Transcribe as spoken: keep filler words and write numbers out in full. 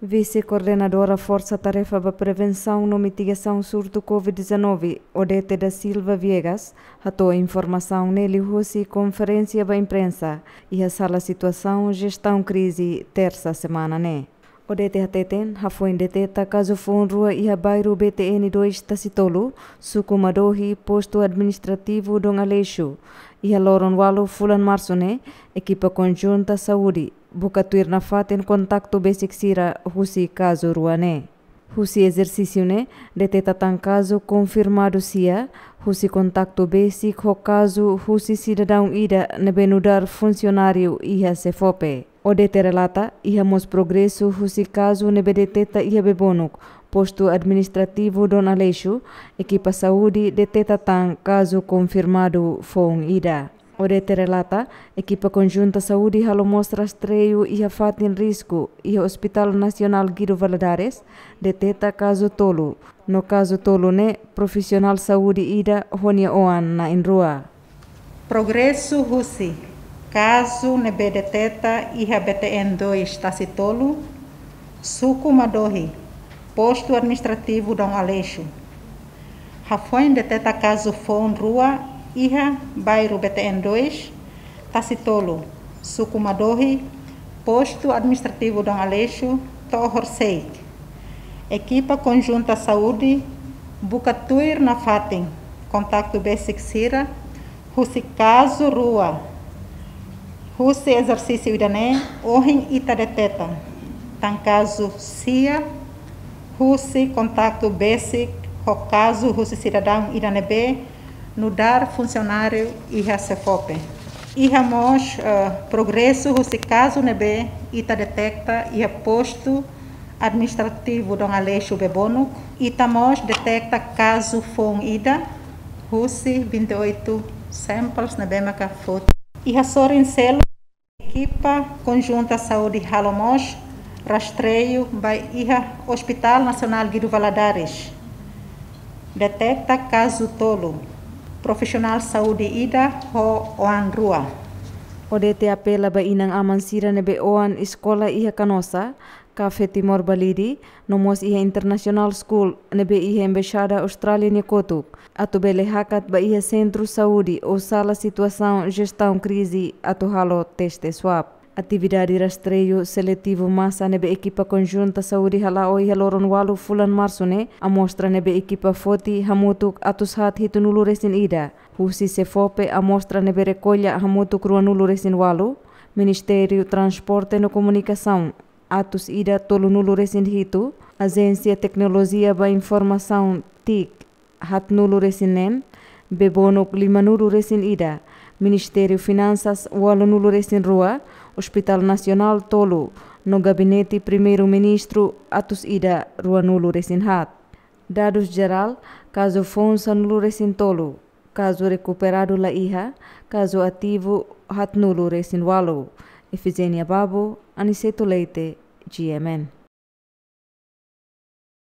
Vise-Koordenadora Forsa Tarefa ba Prevensaun no Mitigasaun Surtu COVID dezanove, Odete da Silva Viegas, hato'o informasaun ne'e liuhusi konferénsia ba imprensa iha Sala Situasaun Jestaun Krize, Tersa semana ne'e. Odete hateten, hafoin deteta kazu foun rua iha bairru B T N dois Tasi Tolu, suku Madohi, postu administrativu Dom Aleixo, iha loron ualu fulan Marsu ne'e, ekipa konjunta saúde buka tuir nafatin kontaktu besik sira husi kazu rua ne'e. Husi ezersísiu ne'e, deteta tan kazu konfirmadu sia, husi kontaktu besik ho kazu husi sidadaun ida ne'ebé nu'udar funsionáriu iha SEFOPE. Odete relata, iha mós progresu husi kazu ne'ebé deteta iha Bebonuk, postu administrativu Dom Aleixo, ekipa saúde deteta tan kazu konfirmadu foun ida. Odete relata, ekipa konjunta saúde halo mós rastreiu iha fatin risku iha Hospital Nasionál Guido Valadares, deteta kazu tolu. No kazu tolu ne'e profisionál saúde ida ho nia oan na'in-rua. Progresu husi kazu ne'ebé deteta iha B T N dois Tasi Tolu, suku Madohi, postu administrativu Dom Aleixo. Hafoin deteta kazu foun rua iha bairru B T N dois Tasi Tolu, suku Madohi, postu administrativu Dom Aleixo, to'o horisehik. Ekipa konjunta saúde buka tuir nafatin kontaktu besik sira husi kazu rua. Husi ezersísiu ida-ne'e, ohin ita deteta tan kazu sia husi kontaktu besik ho kazu husi sidadaun ida ne'ebé nu'udar funsionáriu iha SEFOPE. Iha mós, eh, progresu husi kazu ne'ebé ita deteta iha postu administrativu Dom Aleixo Bebonuk. Ita mós deteta kazu foun ida husi vinte e oito samples ne'ebé maka foti. Iha sorin seluk, ekipa konjunta saúde halo mós rastreiu ba iha Hospital Nasionál Guido Valadares. Deteta kazu tolu, profisionál saúde ida ho oan rua. Odete apela ba inan-aman sira ne'ebé oan eskola iha Canossa, Café Timor Balide, no mós iha International School ne'ebé iha Embaixada Austrália nia kotuk, atu bele hakat ba iha sentru saúde ou sala situasaun jestaun krize atu halo teste swab. Atividade rastreiu seletivu masa ne'ebé ekipa konjunta saúde hala'o iha loron ualu fulan Marsu ne'e, amostra ne'ebé ekipa foti hamutuk atus haat hitunulu resin ida. Husi SEFOPE, amostra ne'ebé rekolla hamutuk ruanulu resin ualu. Ministériu Transporte no Komunikasaun, atus ida tolunulu resin hitu. Ajénsia Teknolojia ba Informasaun, TIC, haatnulu resin neen. Bebonuk, limanulu resin ida. Ministériu Finansas, ualunulu resin rua. Hospital Nasionál, tolu. No Gabinete Primeiru-Ministru, atus ida ruanulu resin haat. Dadus jerál, kazu foun sanulu resin tolu. Kazu rekuperadu la iha. Kazu ativu, haatnulu resin ualu. Efigénia Babo, Aniceto Leite, G M N.